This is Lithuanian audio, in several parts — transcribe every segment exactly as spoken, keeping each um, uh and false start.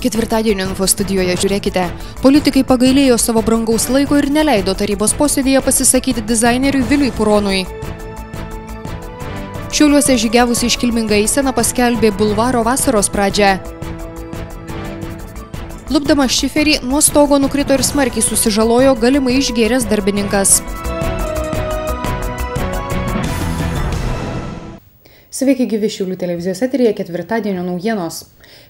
Ketvirtadienio info studijoje žiūrėkite. Politikai pagailėjo savo brangaus laiko ir neleido tarybos posėdėje pasisakyti dizaineriui Viliui Puronui. Šiauliuose žygiavusi iškilminga eisena paskelbė bulvaro vasaros pradžią. Lupdamas šiferį, nuo stogo nukrito ir smarkiai susižalojo galimai išgėręs darbininkas. Sveiki gyvi Šiaulių televizijos eteryje ketvirtadienio naujienos.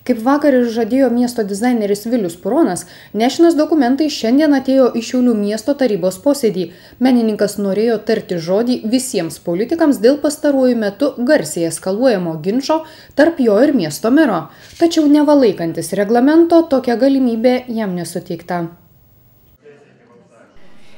Kaip vakar ir žadėjo miesto dizaineris Vilius Puronas, nešinas dokumentai šiandien atėjo į Šiaulių miesto tarybos posėdį. Menininkas norėjo tarti žodį visiems politikams dėl pastaruoju metu garsiai eskaluojamo ginčo tarp jo ir miesto mero. Tačiau nevalaikantis reglamento, tokia galimybė jam nesuteikta.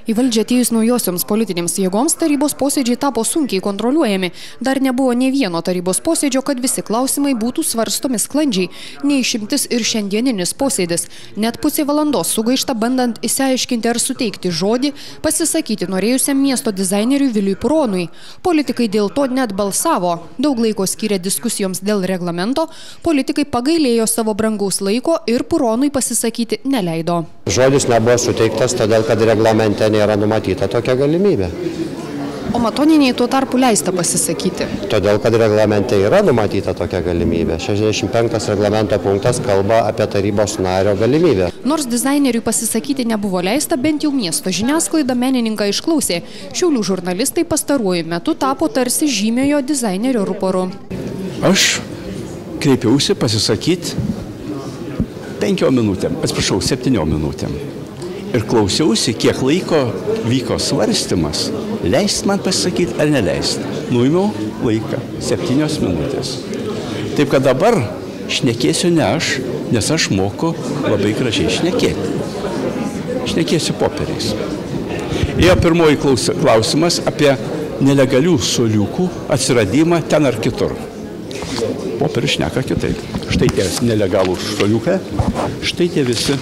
Į valdžią atėjus naujosioms politinėms jėgoms tarybos posėdžiai tapo sunkiai kontroliuojami. Dar nebuvo nė vieno tarybos posėdžio, kad visi klausimai būtų svarstomi sklandžiai. Neišimtis ir šiandieninis posėdis. Net pusė valandos sugaišta bandant išsiaiškinti ar suteikti žodį, pasisakyti norėjusiam miesto dizaineriui Viliui Puronui. Politikai dėl to net balsavo. Daug laiko skyrė diskusijoms dėl reglamento, politikai pagailėjo savo brangaus laiko ir Puronui pasisakyti neleido. Žodis nebuvo suteiktas, todėl kad reglamente nėra numatyta tokia galimybė. O Matoniniai tuo tarpu leista pasisakyti? Todėl, kad reglamente yra numatyta tokia galimybė. šešiasdešimt penktas reglamento punktas kalba apie tarybos nario galimybę. Nors dizaineriui pasisakyti nebuvo leista, bent jau miesto žiniasklaida menininką išklausė. Šiaulių žurnalistai pastaruoju metu tapo tarsi žymiojo dizainerio ruporu. Aš kreipiausi pasisakyti penkiom minutėm, atsiprašau, septyniom minutėm. Ir klausiausi, kiek laiko vyko svarstymas, leist man pasisakyti ar neleist. Nuimiau laiką, septynios minutės. Taip, kad dabar šnekėsiu ne aš, nes aš moku labai gražiai šnekėti. Šnekėsiu popieriais. Ėjo pirmoji klausimas apie nelegalių suoliukų atsiradimą ten ar kitur. Popierius šneka kitaip. Štai tie nelegalūs suoliukai, štai tie visi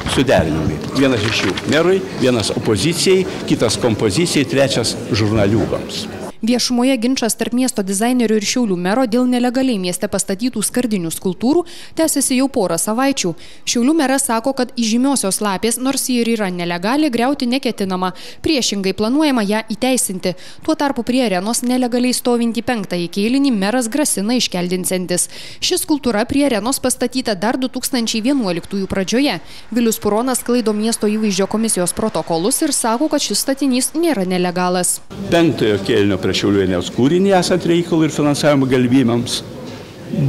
suderinimai. Vienas iš jų merui, vienas opozicijai, kitas kompozicijai, trečias žurnaliūgams. Viešumoje ginčas tarp miesto dizainerių ir Šiaulių mero dėl nelegaliai mieste pastatytų skardinių skulptūrų tęsiasi jau porą savaičių. Šiaulių meras sako, kad įžymiosios lapės, nors ji ir yra nelegali, griauti neketinama. Priešingai planuojama ją įteisinti. Tuo tarpu prie arenos nelegaliai stovintį penktąjį kėlinį meras grasina iškeldinsiantis. Ši skulptūra prie arenos pastatyta dar du tūkstančiai vienuoliktųjų pradžioje. Vilius Puronas sklaido miesto įvaizdžio komisijos protokolus ir sako, kad šis statinys nėra nelegalas. Penktojo kėlinio prie Šiaulienės kūrinį esant reikalų ir finansavimo galimybėms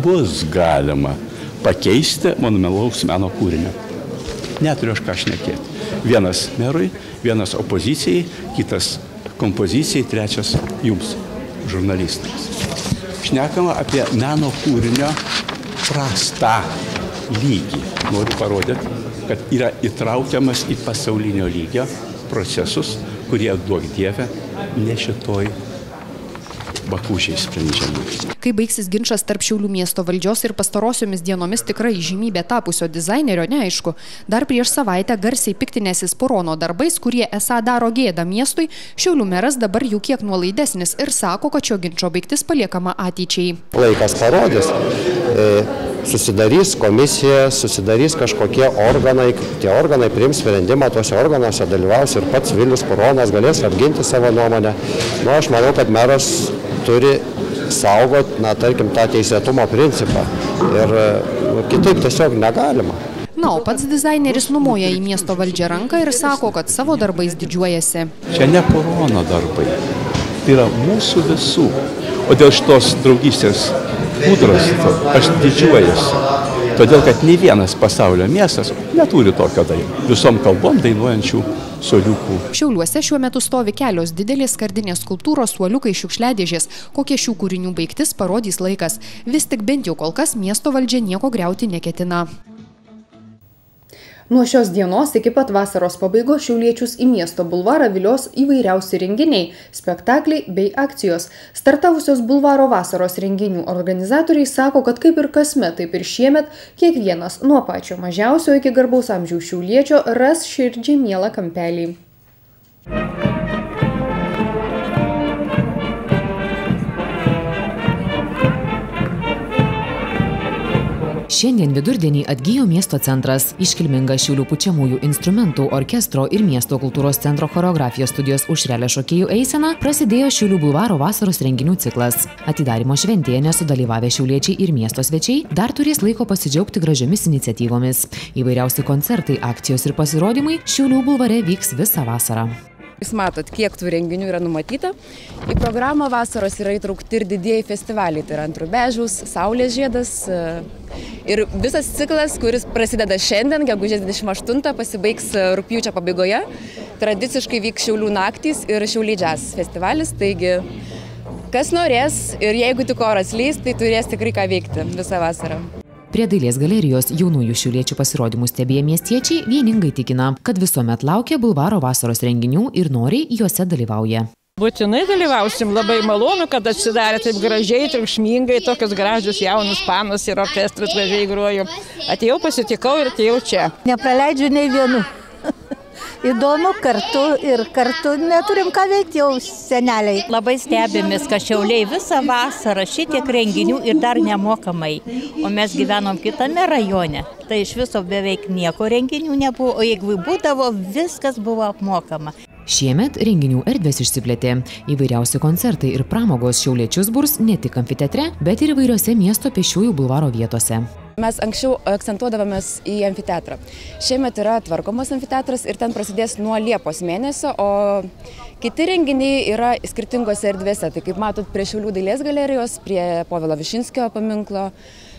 bus galima pakeisti monumentalaus meno kūrinio. Neturiu aš ką šnekėti. Vienas merui, vienas opozicijai, kitas kompozicijai, trečias jums, žurnalistams. Šnekama apie meno kūrinio prastą lygį. Noriu parodyti, kad yra įtraukiamas į pasaulinio lygio procesus, kurie, duok Dieve, ne šitoj bakūžiai sprendžiami. Kai baigsis ginčas tarp Šiaulių miesto valdžios ir pastarosiomis dienomis tikrai žymybė tapusio dizainerio, neaišku. Dar prieš savaitę garsiai piktinęsis Purono darbais, kurie esą daro gėdą miestui, Šiaulių meras dabar jau kiek nuolaidesnis ir sako, kad šio ginčo baigtis paliekama ateičiai. Laikas parodys. Susidarys komisija, susidarys kažkokie organai, tie organai priims sprendimą, tuose organuose dalyvaus ir pats Vilius Puronas galės apginti savo nuomonę. Nu, aš manau, kad meras turi saugoti, na, tarkim, tą teisėtumo principą ir nu, kitaip tiesiog negalima. Na, o pats dizaineris numoja į miesto valdžią ranką ir sako, kad savo darbais didžiuojasi. Čia ne Purono darbai, tai yra mūsų visų. O dėl šitos draugystės kūdros aš didžiuojasi. Todėl, kad nei vienas pasaulio miestas neturi tokio dainų. Visom kalbom dainuojančių suoliukų. Šiauliuose šiuo metu stovi kelios didelės skardinės skulptūros, suoliukai, šiukšliadėžės. Kokie šių kūrinių baigtis parodys laikas. Vis tik bent jau kol kas miesto valdžia nieko griauti neketina. Nuo šios dienos iki pat vasaros pabaigos šiauliečius į miesto bulvarą vilios įvairiausi renginiai, spektakliai bei akcijos. Startavusios bulvaro vasaros renginių organizatoriai sako, kad kaip ir kasmet, taip ir šiemet, kiekvienas nuo pačio mažiausio iki garbaus amžiaus šiauliečio ras širdžiai mielą kampelį. Šiandien vidurdienį atgyjo miesto centras. Iškilminga Šiaulių pučiamųjų instrumentų orkestro ir miesto kultūros centro choreografijos studijos Aušrelė šokėjų eisena prasidėjo Šiaulių bulvaro vasaros renginių ciklas. Atidarymo šventėje nesudalyvavę šiauliečiai ir miesto svečiai dar turės laiko pasidžiaugti gražiomis iniciatyvomis. Įvairiausi koncertai, akcijos ir pasirodymai Šiaulių bulvare vyks visą vasarą. Jūs matot, kiek tų renginių yra numatyta. Į programą vasaros yra įtraukti ir didieji festivaliai, tai yra Ant Rubežiaus, Saulės žiedas. Ir visas ciklas, kuris prasideda šiandien, gegužės dvidešimt aštuntą, pasibaigs rugpjūčio pabaigoje. Tradiciškai vyks Šiaulių naktys ir Šiauliai Jazz festivalis, taigi kas norės ir jeigu tik oras leis, tai turės tikrai ką veikti visą vasarą. Prie Dailės galerijos jaunųjų šiauliečių pasirodymų stebėję miestiečiai vieningai tikina, kad visuomet laukia bulvaro vasaros renginių ir noriai juose dalyvauja. Būtinai dalyvausim, labai malonu, kad atsidarė taip gražiai, triukšmingai, tokius gražius jaunus panus ir orkestras gražiai grojo. Atėjau, pasitikau ir atėjau čia. Nepraleidžiu nei vienu. Įdomu kartu ir kartu neturim ką veikti jau seneliai. Labai stebimės, kad Šiauliai visą vasarą šitiek renginių ir dar nemokamai. O mes gyvenom kitame rajone. Tai iš viso beveik nieko renginių nebuvo, o jeigu būdavo, viskas buvo apmokama. Šiemet renginių erdvės išsiplėtė. Įvairiausi koncertai ir pramogos šiauliečius burs ne tik amfiteatre, bet ir įvairiose miesto pėsčiųjų bulvaro vietose. Mes anksčiau akcentuodavomės į amfiteatrą. Šiemet yra tvarkomas amfiteatras ir ten prasidės nuo Liepos mėnesio, o kiti renginiai yra skirtingose erdvėse. Tai kaip matot, prie Šiaulių dailės galerijos, prie Povilo Višinskio paminklo.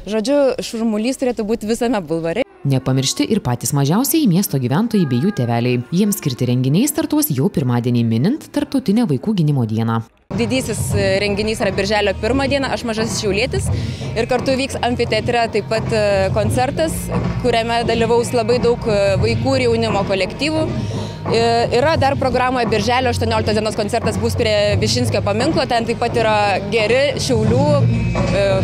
Žodžiu, šurmulys turėtų būti visame bulvare. Nepamiršti ir patys mažiausiai miesto gyventojai bei jų tėveliai. Jiems skirti renginiai startuos jau pirmadienį minint Tarptautinę vaikų gynimo dieną. Didysis renginys yra birželio pirmą dieną, aš mažasis šiaulietis. Ir kartu vyks amfiteatre taip pat koncertas, kuriame dalyvaus labai daug vaikų ir jaunimo kolektyvų. Yra dar programoje birželio aštuonioliktos dienos koncertas bus prie Višinskio paminklo, ten taip pat yra geri Šiaulių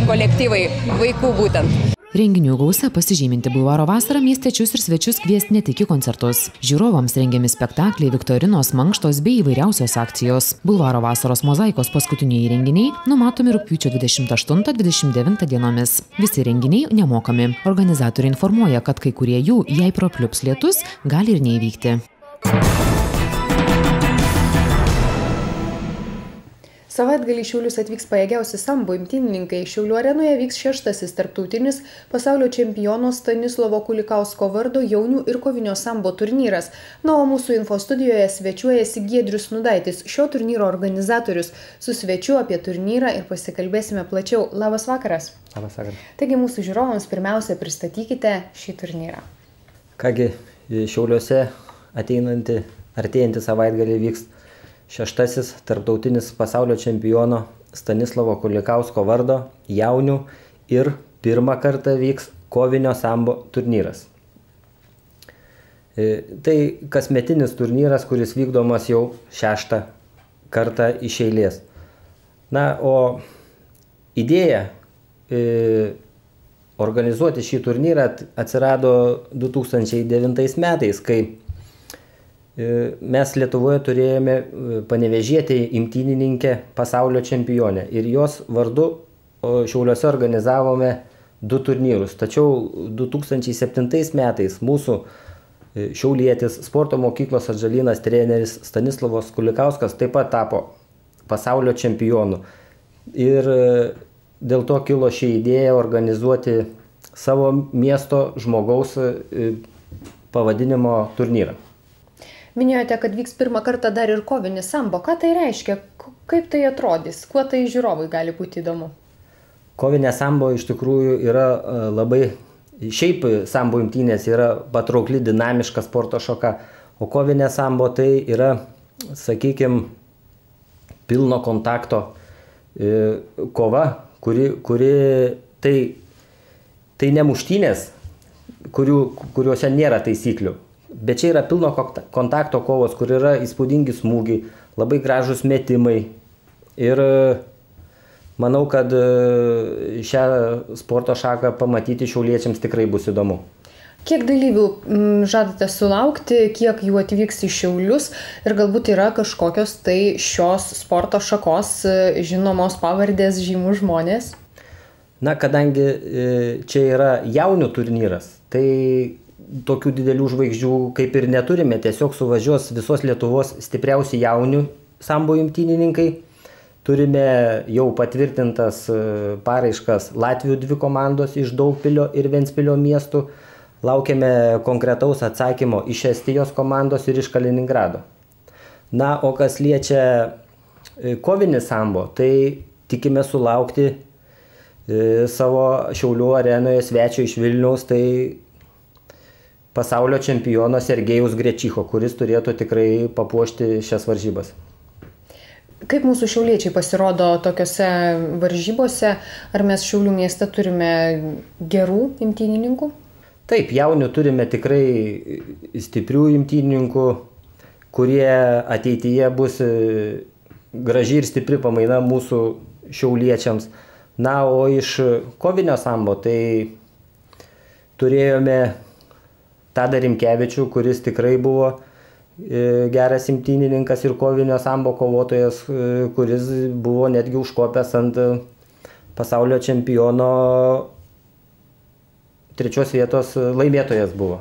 kolektyvai, vaikų būtent. Renginių gausa pasižyminti bulvaro vasarą miestiečius ir svečius kvies ne tik į koncertus. Žiūrovams rengiami spektakliai, viktorinos, mankštos bei įvairiausios akcijos. Bulvaro vasaros mozaikos paskutiniai renginiai numatomi rugpjūčio dvidešimt aštuntą dvidešimt devintą dienomis. Visi renginiai nemokami. Organizatoriai informuoja, kad kai kurie jų, jei prapliups lietus, gali ir neįvykti. Savaitgalį Šiaulius atvyks pajėgiausi sambo imtynininkai. Šiaulių arenoje vyks šeštasis tarptautinis pasaulio čempiono Stanislovo Kulikausko vardo jaunių ir kovinio sambo turnyras. Na, o mūsų info studijoje svečiuojasi Giedrius Nudaitis, šio turnyro organizatorius. Su svečiu apie turnyrą ir pasikalbėsime plačiau. Labas vakaras. Labas vakaras. Taigi mūsų žiūrovams pirmiausia pristatykite šį turnyrą. Kągi, Šiauliuose ateinantį, artėjantį savaitgalį vyks šeštasis tarptautinis pasaulio čempiono Stanislovo Kulikausko vardo jaunių ir pirmą kartą vyks kovinio sambo turnyras. Tai kasmetinis turnyras, kuris vykdomas jau šeštą kartą iš eilės. Na, o idėja e, organizuoti šį turnyrą atsirado du tūkstančiai devintais metais, kai mes Lietuvoje turėjome panevėžietę imtynininkę pasaulio čempionę ir jos vardu Šiauliuose organizavome du turnyrus. Tačiau du tūkstančiai septintais metais mūsų šiaulietis sporto mokyklos Atžalynas treneris Stanislovas Kulikauskas taip pat tapo pasaulio čempionu. Ir dėl to kilo ši idėja organizuoti savo miesto žmogaus pavadinimo turnyrą. Minėjote, kad vyks pirmą kartą dar ir kovinis sambo. Ką tai reiškia? Kaip tai atrodys? Kuo tai žiūrovai gali būti įdomu? Kovinė sambo iš tikrųjų yra labai, šiaip sambo imtynės yra patraukli, dinamiška sporto šaka, o kovinė sambo tai yra, sakykime, pilno kontakto e, kova, kuri, kuri tai, tai ne muštynės, kurių, kuriuose nėra taisyklių. Bet čia yra pilno kontakto kovos, kur yra įspūdingi smūgiai, labai gražus metimai. Ir manau, kad šią sporto šaką pamatyti šiauliečiams tikrai bus įdomu. Kiek dalyvių žadate sulaukti, kiek jų atvyks į Šiaulius ir galbūt yra kažkokios tai šios sporto šakos žinomos pavardės, žymų žmonės? Na, kadangi čia yra jaunių turnyras, tai tokių didelių žvaigždžių kaip ir neturime, tiesiog suvažiuos visos Lietuvos stipriausi jaunių sambo imtynininkai. Turime jau patvirtintas paraiškas Latvijų dvi komandos iš Daugpilio ir Ventspilio miestų. Laukiame konkretaus atsakymo iš Estijos komandos ir iš Kaliningrado. Na, o kas liečia kovinį sambo, tai tikime sulaukti savo Šiaulių arenoje svečio iš Vilniaus, tai pasaulio čempiono Sergejaus Grečicho, kuris turėtų tikrai papuošti šias varžybas. Kaip mūsų šiauliečiai pasirodo tokiose varžybose? Ar mes Šiaulių mieste turime gerų imtynininkų? Taip, jaunių turime tikrai stiprių imtynininkų, kurie ateityje bus graži ir stipri pamaina mūsų šiauliečiams. Na, o iš kovinio sambo tai turėjome Tadą Rimkevičių, kuris tikrai buvo geras imtynininkas ir kovinio sambo kovotojas, kuris buvo netgi užkopęs ant pasaulio čempiono trečios vietos laimėtojas buvo.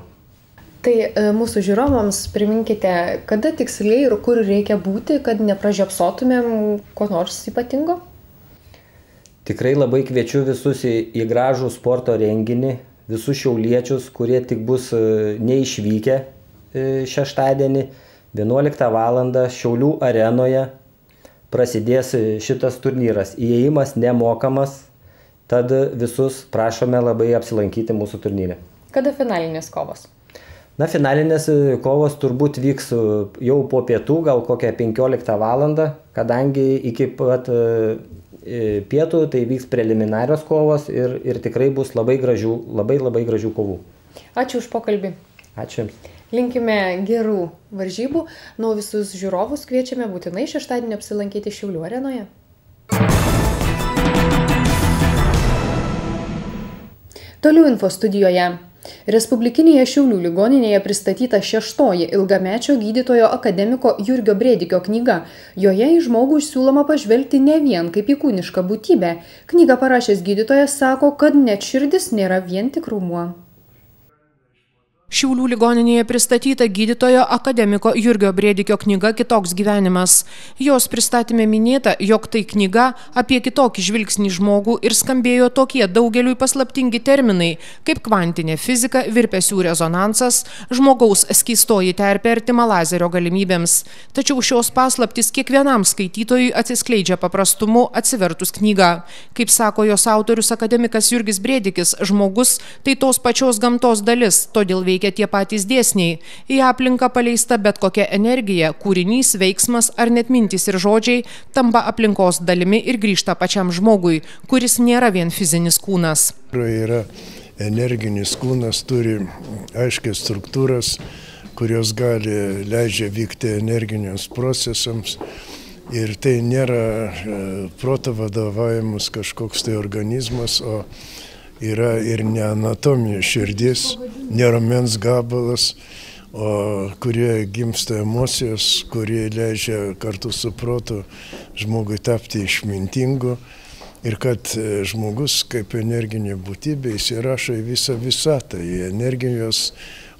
Tai mūsų žiūrovams priminkite, kada tiksliai ir kur reikia būti, kad nepražiopsotumėm ko nors ypatingo? Tikrai labai kviečiu visus į, į gražų sporto renginį, visus šiauliečius, kurie tik bus neišvykę šeštadienį, vienuoliktą valandą Šiaulių arenoje prasidės šitas turnyras. Įėjimas nemokamas, tad visus prašome labai apsilankyti mūsų turnyre. Kada finalinės kovos? Na, finalinės kovos turbūt vyks jau po pietų, gal kokią penkioliktą valandą, kadangi iki pat pietų tai vyks preliminarios kovos ir, ir tikrai bus labai gražių, labai labai gražių kovų. Ačiū už pokalbį. Ačiū Jums. Linkime gerų varžybų. Nu, visus žiūrovus kviečiame būtinai šeštadienį apsilankyti Šiaulių arenoje. Toliau info studijoje. Respublikinėje Šiaulių ligoninėje pristatyta šeštoji ilgamečio gydytojo akademiko Jurgio Brėdikio knyga. Joje į žmogų siūloma pažvelgti ne vien kaip į kūnišką būtybę. Knygą parašęs gydytojas sako, kad net širdis nėra vien tik raumuo. Šiaulių ligoninėje pristatyta gydytojo akademiko Jurgio Brėdikio knyga Kitoks gyvenimas. Jos pristatyme minėta, jog tai knyga apie kitokį žvilgsnį žmogų ir skambėjo tokie daugeliui paslaptingi terminai, kaip kvantinė fizika, virpesių rezonansas, žmogaus skystoji terpė artima lazerio galimybėms. Tačiau šios paslaptys kiekvienam skaitytojui atsiskleidžia paprastumu atsivertus knygą. Kaip sako jos autorius akademikas Jurgis Brėdikis, žmogus tai tos pačios gamtos dalis, todėl veikia tie patys dėsniai. Į aplinką paleista bet kokia energija, kūrinys, veiksmas ar net mintys ir žodžiai tampa aplinkos dalimi ir grįžta pačiam žmogui, kuris nėra vien fizinis kūnas. Yra energinis kūnas, turi aiškias struktūras, kurios gali leidžia vykti energiniams procesams. Ir tai nėra proto vadovavimas kažkoks tai organizmas, o yra ir ne anatomija širdis, ne raumens gabalas, o kurie gimsta emocijos, kurie leidžia kartu su protu žmogui tapti išmintingu. Ir kad žmogus kaip energinė būtybė įsirašo į visą visatą, į energijos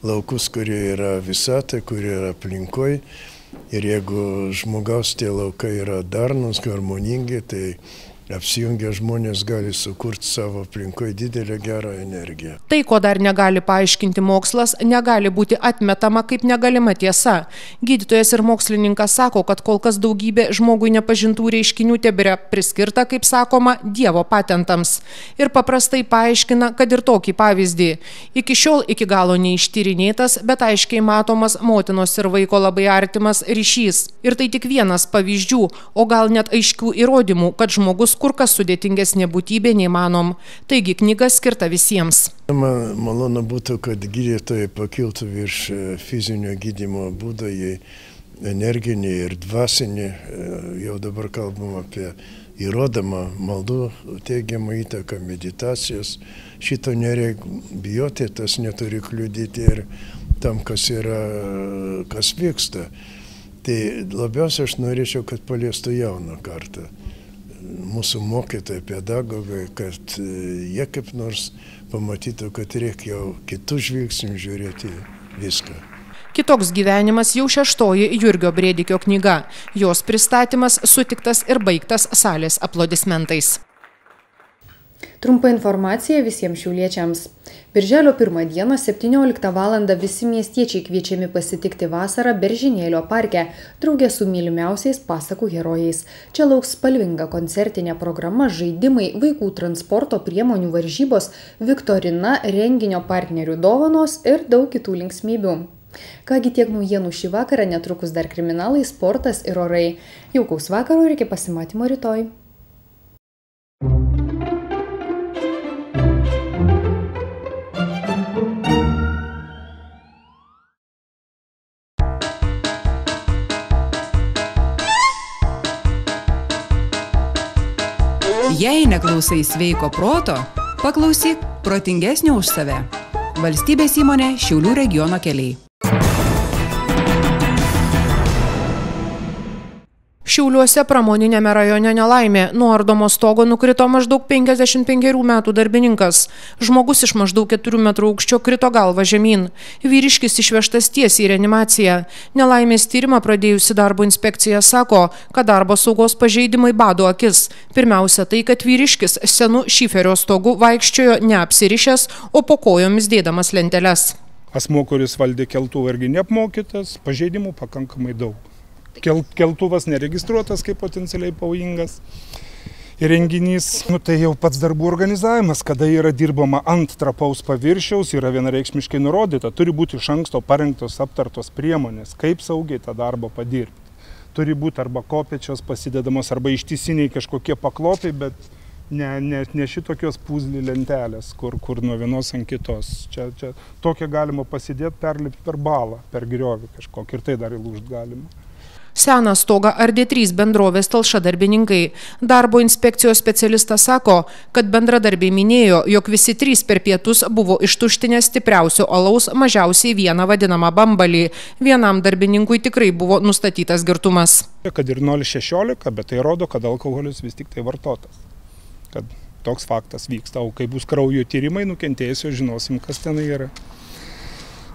laukus, kurie yra visatą, kurie yra aplinkoj. Ir jeigu žmogaus tie laukai yra darnus, harmoningi, tai apsijungę žmonės gali sukurti savo aplinkoje didelę gerą energiją. Tai, ko dar negali paaiškinti mokslas, negali būti atmetama kaip negalima tiesa. Gydytojas ir mokslininkas sako, kad kol kas daugybė žmogui nepažintų reiškinių tebėra priskirta, kaip sakoma, Dievo patentams. Ir paprastai paaiškina, kad ir tokį pavyzdį. Iki šiol iki galo neištyrinėtas, bet aiškiai matomas motinos ir vaiko labai artimas ryšys. Ir tai tik vienas pavyzdžių, o gal net aiškių įrodymų, kad žmogus kur kas sudėtingesnė būtybė neįmanom. Taigi knyga skirta visiems. Man malonu būtų, kad gydytojai pakiltų virš fizinio gydymo būdo į energinį ir dvasinį. Jau dabar kalbam apie įrodomą maldų teigiamą įtaką, meditacijos. Šito nereikia bijoti, tas neturi kliudyti ir tam, kas yra, kas vyksta. Tai labiausiai aš norėčiau, kad paliestų jauną kartą. mūsų mokytojai, pedagogai, kad jie kaip nors pamatytų, kad reikia jau kitų žvilgsnių žiūrėti viską. Kitoks gyvenimas jau šeštoji Jurgio Brėdikio knyga. Jos pristatymas sutiktas ir baigtas salės aplodismentais. Trumpa informacija visiems šiauliečiams. Birželio pirmą dieną septynioliktą valandą visi miestiečiai kviečiami pasitikti vasarą Beržynėlio parke, drauge su mylimiausiais pasakų herojais. Čia lauks spalvinga koncertinė programa, žaidimai, vaikų transporto priemonių varžybos, viktorina, renginio partnerių dovanos ir daug kitų linksmybių. Kągi tiek naujienų šį vakarą, netrukus dar kriminalai, sportas ir orai. Jaukaus vakaro ir iki pasimatymo rytoj. Jei neklausai sveiko proto, paklausyk protingesnio už save. Valstybės įmonė Šiaulių regiono keliai. Šiauliuose pramoninėme rajone nelaimė. Nuo ardomo stogo nukrito maždaug penkiasdešimt penkerių metų darbininkas. Žmogus iš maždaug keturių metrų aukščio krito galva žemyn. Vyriškis išvežtas tiesiai į reanimaciją. Nelaimės tyrimą pradėjusi darbo inspekcija sako, kad darbo saugos pažeidimai bado akis. Pirmiausia tai, kad vyriškis senu šiferio stogu vaikščiojo neapsirišęs, o po kojomis dėdamas lenteles. Asmuo, kuris valdė keltuvą, irgi neapmokytas, pažeidimų pakankamai daug. Keltuvas neregistruotas kaip potencialiai pavojingas įrenginys. Nu, tai jau pats darbų organizavimas, kada yra dirbama ant trapaus paviršiaus, yra vienareikšmiškai nurodyta. Turi būti iš anksto parengtos aptartos priemonės, kaip saugiai tą darbą padirbti. Turi būti arba kopėčios pasidedamos, arba ištisiniai kažkokie paklopiai, bet ne, ne, ne šitokios puzlį lentelės, kur, kur nuo vienos ant kitos. Čia, čia tokią galima pasidėti, perlipti per balą, per griovį kažkokį, ir tai dar įlūžti galima. Seną stogą ardė trys bendrovės Talša darbininkai. Darbo inspekcijos specialistas sako, kad bendradarbiai minėjo, jog visi trys per pietus buvo ištuštinę stipriausio alaus mažiausiai vieną vadinamą bambalį. Vienam darbininkui tikrai buvo nustatytas girtumas. Kad ir nulis šešiolika, bet tai rodo, kad alkoholis vis tik tai vartotas. Kad toks faktas vyksta. O kai bus kraujo tyrimai nukentėjusio, žinosim, kas ten yra.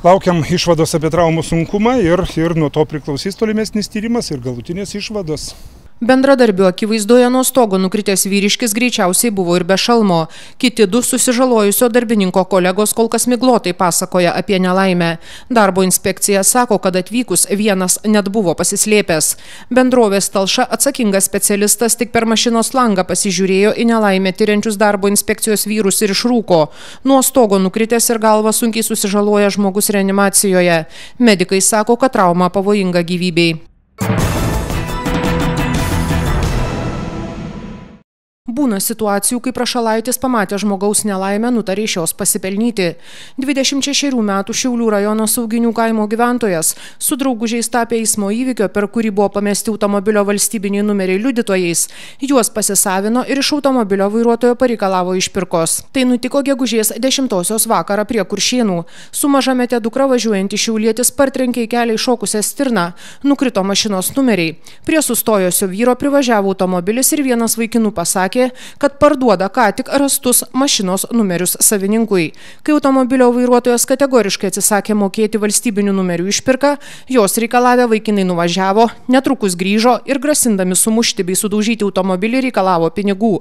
Laukiam išvados apie traumų sunkumą ir, ir nuo to priklausys tolimesnis tyrimas ir galutinės išvados. Bendradarbių akivaizdoje nuo stogo nukritęs vyriškis greičiausiai buvo ir be šalmo. Kiti du susižalojusio darbininko kolegos kol kas miglotai pasakoja apie nelaimę. Darbo inspekcija sako, kad atvykus vienas net buvo pasislėpęs. Bendrovės Talša atsakingas specialistas tik per mašinos langą pasižiūrėjo į nelaimę tyriančius darbo inspekcijos vyrus ir išrūko. Nuo stogo nukritęs ir galva sunkiai susižaloja žmogus reanimacijoje. Medikai sako, kad trauma pavojinga gyvybei. Būna situacijų, kai prašalaitis pamatė žmogaus nelaimę, nutarė iš jos pasipelnyti. dvidešimt šešerių metų Šiaulių rajono Sauginių kaimo gyventojas su draugužiais tapė eismo įvykio, per kurį buvo pamesti automobilio valstybiniai numeriai liudytojais. Juos pasisavino ir iš automobilio vairuotojo pareikalavo išpirkos. Tai nutiko gegužės dešimtosios vakarą prie Kuršėnų. Su mažamete dukra važiuojantį šiaulietis partrenkė į kelią iššokusią stirną. Nukrito mašinos numeriai. Prie sustojusio vyro privažiavo automobilis ir vienas vaikinų pasakė, kad parduoda ką tik rastus mašinos numerius savininkui. Kai automobilio vairuotojas kategoriškai atsisakė mokėti valstybinių numerių išpirką, jos reikalavę vaikinai nuvažiavo, netrukus grįžo ir grasindami sumušti bei sudaužyti automobilį reikalavo pinigų.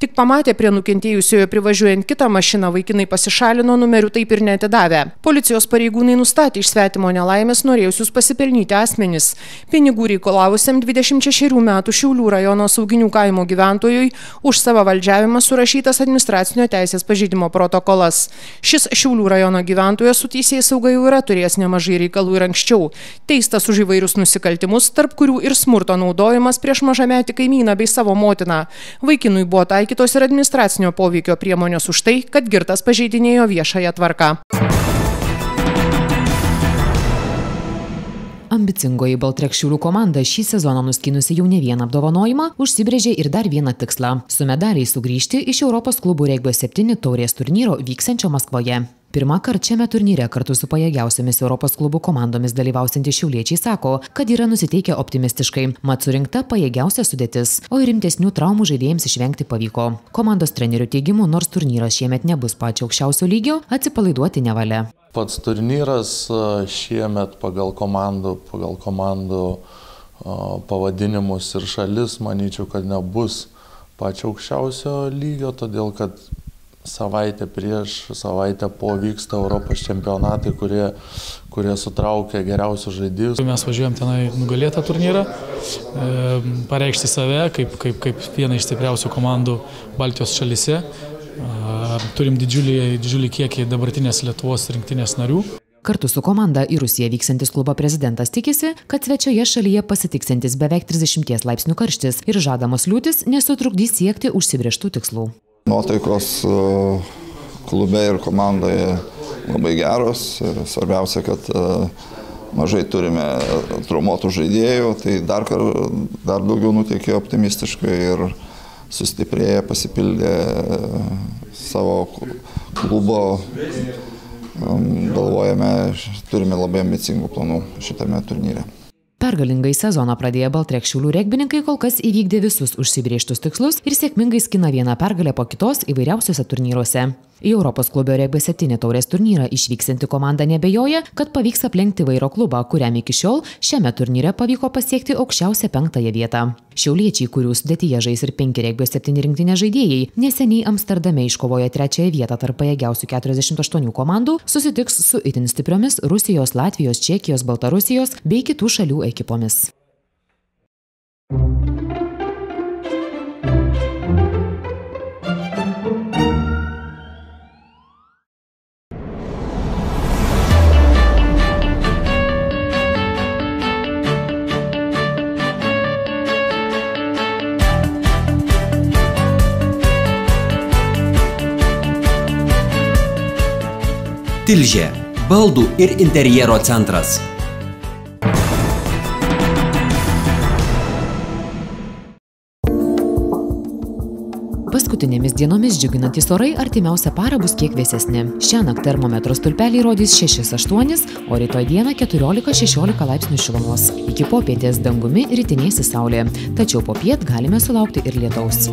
Tik pamatė prie nukentėjusiojo privažiuojant kitą mašiną, vaikinai pasišalino, numerių taip ir neatidavę. Policijos pareigūnai nustatė iš svetimo nelaimės norėjusius pasipelnyti asmenis. Pinigų reikalavusiam dvidešimt šešerių metų Šiaulių rajono Sauginių kaimo gyventojui už savavaldžiavimą surašytas administracinio teisės pažeidimo protokolas. Šis Šiaulių rajono gyventojas su teisėsauga jau yra turėjęs nemažai reikalų ir anksčiau. Teistas už įvairius nusikaltimus, tarp kurių ir smurto naudojimas prieš mažametį kaimyną bei savo motiną. Vaikinui buvo taikytos ir administracinio poveikio priemonės už tai, kad girtas pažeidinėjo viešąją tvarką. Ambicingoji Baltrek Šiaulių komanda šį sezoną nuskynusi jau ne vieną apdovanojimą, užsibrėžė ir dar vieną tikslą – su medaliais sugrįžti iš Europos klubų regbio septyni taurės turnyro vyksiančio Maskvoje. Pirmą kartą šiame turnyre kartu su pajėgiausiamis Europos klubų komandomis dalyvausiantys šiauliečiai sako, kad yra nusiteikę optimistiškai, mat surinkta pajėgiausia sudėtis, o ir rimtesnių traumų žaidėjams išvengti pavyko. Komandos trenerių teigimu, nors turnyras šiemet nebus pačio aukščiausio lygio, atsipalaiduoti nevalia. Pats turnyras šiemet pagal komandų, pagal komandų pavadinimus ir šalis, manyčiau, kad nebus pačio aukščiausio lygio, todėl kad savaitę prieš, savaitę po vyksta Europos čempionatai, kurie, kurie sutraukia geriausius žaidėjus. Mes važiuojam tenai nugalėtą turnyrą, e, pareikšti save kaip, kaip, kaip vieną iš stipriausių komandų Baltijos šalyse. E, turim didžiulį, didžiulį kiekį dabartinės Lietuvos rinktinės narių. Kartu su komanda į Rusiją vyksantis klubo prezidentas tikisi, kad svečioje šalyje pasitiksintis beveik trisdešimties laipsnių karštis ir žadamos liūtis nesutrukdys siekti užsibrėžtų tikslų. Nuotaikos klube ir komandoje labai geros. Svarbiausia, kad mažai turime traumuotų žaidėjų, tai dar, dar daugiau nuteikė optimistiškai ir sustiprėję, pasipildė savo klubo. Galvojame, turime labai ambicingų planų šitame turnyre. Pergalingai sezoną pradėję Baltrek Šiaulių regbininkai kol kas įvykdė visus užsibrėžtus tikslus ir sėkmingai skina vieną pergalę po kitos įvairiausiuose turnyruose. Į Europos klubio regbio septyni taurės turnyrą išvyksinti komanda nebejoja, kad pavyks aplenkti Vairo klubą, kuriam iki šiol šiame turnyre pavyko pasiekti aukščiausią penktąją vietą. Šiauliečiai, kurių sudėtyje žais ir penki regbio septyni rinktinės žaidėjai, neseniai Amsterdame iškovojo trečiąją vietą tarp pajėgiausių keturiasdešimt aštuonių komandų, susitiks su itin stipriomis Rusijos, Latvijos, Čekijos, Baltarusijos bei kitų šalių ekipomis. Tilžė – baldų ir interjero centras. Paskutinėmis dienomis džiuginantys orai artimiausią parą bus kiek vėsesni. Šiąnakt termometro stulpeliai rodys šešis aštuonis, o rytoj dieną keturiolika šešiolika laipsnių šilumos. Iki popietės dangumi ritinėsis saulė, tačiau popiet galime sulaukti ir lietaus.